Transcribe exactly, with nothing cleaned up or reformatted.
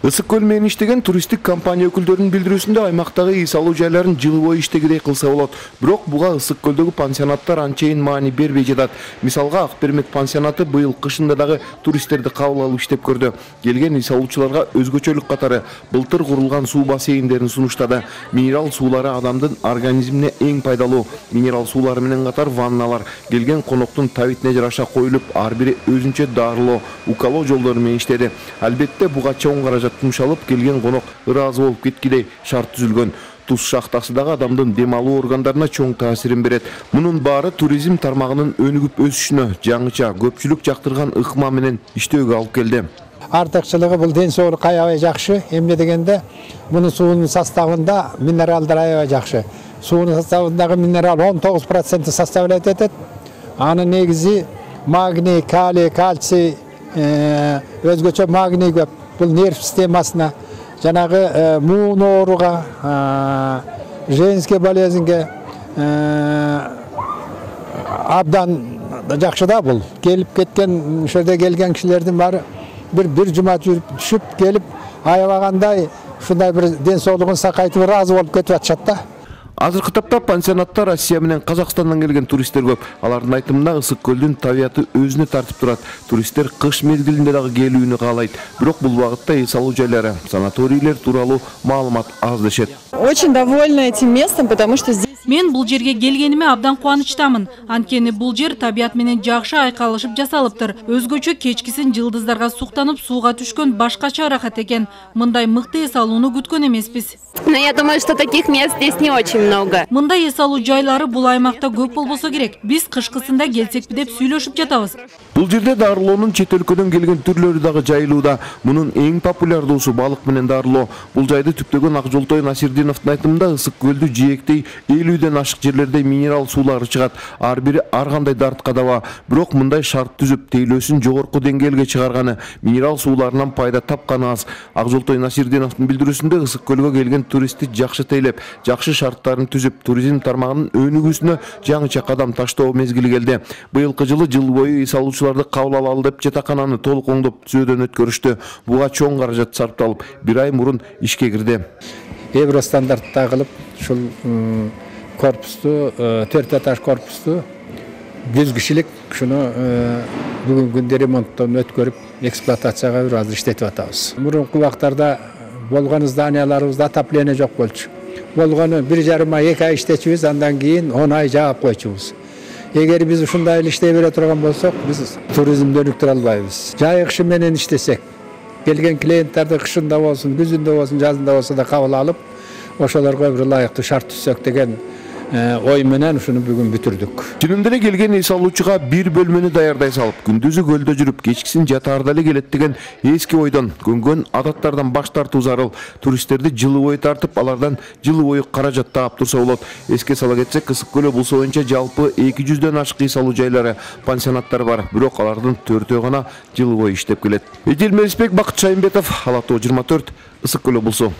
Ысык көл менен иштеген туристтик компания өкүлдөрүнүн билдирүүсүндө аймактагы үй салуу жайларын жылы бою иштегидей кылса болот. Бирок буга ысык көлдөгү пансионаттар анчейин маани бербей жатат. Мисалга Ак Пермек пансионаты быйыл кышында дагы туристтерди кабыл алып иштеп көрдү. Келген үй салуучуларга өзгөчөлүк катары былтыр курулган суу бассейндерин сунуштады. Минерал суулары адамдын организмине эң пайдалуу. Минерал суулары менен катар ванналар келген коноктун табитине жараша коюлуп, ар бири өзүнчө дарылоо, укалоо жолдору менен иштеди. Албетте буга чоң каражат жумшалып, келген конок ыраазы болуп кеткидей шарт түзүлгөн. Туз шахтасы дагы адамдын дем алуу органдарына чоң таасирин берет. Мунун баары туризм тармагынын өнүгүп өсүшүнө, жаңыча көпчүлүк жактырган ыкма менен иштөөгө алып келди. Артыкчылыгы бул ден соолукка аябай жакшы. Эмне дегенде, мунун суунун составында минералдар аябай жакшы. Суунун составындагы минерал он тогуз процент составлять этет. Анын негизи магний, калий, кальций, өзгөчө магний көп. Бул нерв системасына, жанагы муун ооруга, женский болезньге абдан жакшы да бул. Келип кеткен, ошо жерде келген кишилердин баары бир бир жума жүрүп түшүп келип аябагандай ушундай бир ден соолугун сакайтып ыраазы болуп кетип атышат да. Азыркы тапта пансионатта Россия менен Казакстандан келген туристтер көп. Алардын айтымында ысык көлдүн табияты өзүнө тартып турат. Туристтер кыш мезгилинде дагы келүүнү каалайт. Бирок бул багытта үй салуу жайлары, санаторийлер тууралуу маалымат аз дешет. Очень довольна этим местом, потому что здесь мен бул жерге келгениме абдан кубанычтамын. Анткени бул жер табият менен жакшы айкалышып жасалыптыр. Өзгөчө кечкисин жылдыздарга суктанып сууга түшкөн башкача ырахат экен. Мындай мыкты эс алууну күткөн эмеспиз. Но я думаю, что таких мест здесь не очень много. Мындай эс алуу жайлары бул аймакта көп болбосо керек. Биз кышкысында келсекпи деп сүйлөшүп жатабыз. Бул жерде дарылоонун чет өлкөдөн келген түрлөрү дагы жайылууда. Мунун эң популярдуусу балык менен дарылоо. Бул жайды түптөгөн Акжолтой Насирдиновдун айтымында ысык көлдү жээктей элүүдөн ашык жерлерде минерал суулары чыгат. Ар бири ар кандай дартка даба. Бирок мындай шарт түзүп, тейлөөсүн жогорку деңгээлге чыгарганы, минерал сууларынан пайда тапканы аз. Акжолтой Насирдиновдун билдирүүсүндө ысык көлгө келген туристти жакшы тейлеп, жакшы шарттарын түзүп, туризм тармагынын өнүгүүсүнө жаңыча кадам таштоо мезгили келди. Быйылкы жылы жыл бою үй салуучуларды кабыл алалы деп жатакананы толук оңдоп түзөөдөн өткөрүштү. Буга чоң каражат сарпталып, бир ай мурун ишке кирди. Евростандартта кылып, ушул корпусту, төрт этаж корпусту жүз кишилик ушуну бүгүнкү күндө ремонттон өткөрүп, эксплуатацияга бир азыр иштетип атабыз. Мурунку убактарда болгон зданияларыбызда отопление жок болчу. Болгону бир жарым ай, эки ай иштечүбүз, андан кийин он ай жаап койчубуз. Эгер биз ушундай эле иштей бере турган болсок, биз туризмди өнүктүрө албайбыз. Жай кышы менен иштесек, келген клиенттерди кышында болсун, күзүндө болсун, жазында болсо да кабыл алып, ошолорго бир ылайыктуу шарт түзсөк деген ой менен ушуну бүгүн бүтүрдүк. Чынында эле келген үй салуучуга бир бөлмөнү даярдай салып, күндүзү көлдө жүрүп, кечкисин жатаарда эле келет деген эски ойдон, көнгөн адаттардан баш тартуу зарыл. Туристтерди жылы бою тартып, алардан жылы бою каражат таап турса болот. Эске сала кетсек, Ысык көлү булсо боюнча жалпы эки жүздөн ашык үй салуу жайлары, пансионаттар бар. Бирок алардын төртөө гана жылы бою иштеп келет. Эдил Мелисбек, Бакыт Шайымбетов, Ала Тоо жыйырма төрт, Ысык көлү булсу.